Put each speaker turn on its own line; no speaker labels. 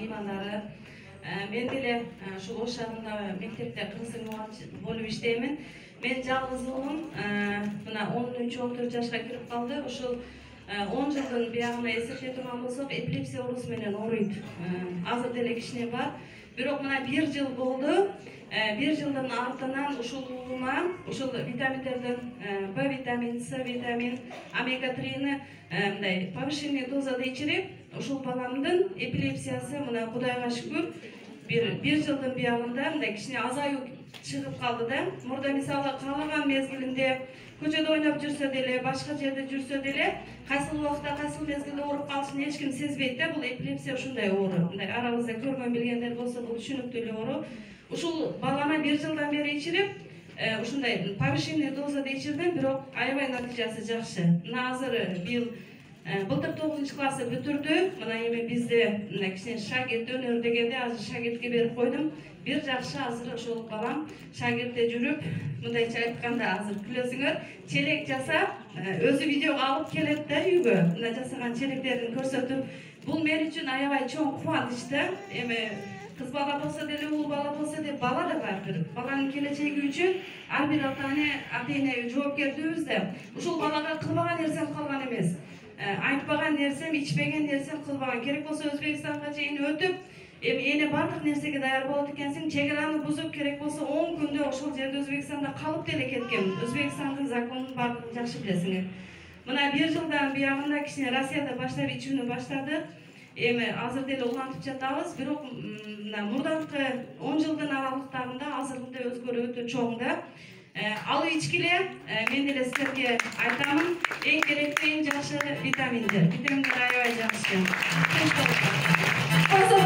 меймандары. Мен деле ушул Ош шаарында мектепте кыргыз мугалим болуп иштеймин. Мен жалгыз уулум мына 13-14 жашка кирип калды. Ушул 10 жылдын биягына эсептей турган болсок, эпилепсия оорусу менен ооруйт. Азыр деле кичине бар. Бирок мына 1 жыл болду. 1 жылдын артынан ушул уулума ушул витаминдерден Б витамин, С витамин, омега-3-ни мындай повышенный дозада ичирип, ушул баламдын эпилепсиясы мына Кудайга шүгүр 1 жылдын биягында мындай кичине азаюу чыгып калды да. Мурда мисалы каалаган мезгилинде көчөдө ойноп жүрсө деле, башка жерде жүрсө деле, кайсыл убакта, кайсыл мезгилде ооруп калышын эч ким сезбейт да. Бул эпилепсия ушундай оору. Мындай арабызда көргөн билгендер болсо, бул түшүнүктүү эле оору. Ушул балама 1 жылдан бери ичирип, ушундай повышенный дозада ичирдим, бирок аябай натыйжасы жакшы. Мына азыр былтыр 9-классы бүтүрдү. Мына эми бизде мына кичине шагирт өнөр дегенде азыр шагиртке берип койдум. Бир жакшы азыр ошол балам шагиртте жүрүп, мындайча айтканда азыр күлөсүңөр, челек жасап, өзү видеого алып келет да үйгө. Мына жасаган челектерин көрсөтүп, бул мен үчүн аябай чоң кубаныч да. Эми кыз бала болсо деле, уул бала болсо деле, бала да барбыр. Баланын келечеги үчүн ар бир ата-эне жоопкердүүбүз да. Ушул балага кылбаган нерсем калган эмес. Айтпаган нерсем, ичпеген нерсем кылбаган. Керек болсо Өзбекстанга чейин өтүп, эми эне бардык нерсеге даяр болот экенсиң, чек араны бузуп, керек болсо 10 күндө ошол жерде Өзбекстанда калып деле кеткен. Өзбекстандын законун бардыгын жакшы билесиңер. Мына 1 жылдан биягында кичине Россияда баштап ичүүнү баштадык. Эми азыр деле улантып жатабыз, бирок мына мурдакы 10 жылдын аралыктарында азыркыда өзгөрүү өтө чоң да. Алып ичкиле, мен деле силерге айтамын, эң керектүү, эң жакшы витаминдер. Витаминдер аябай жакшы. Кошсо,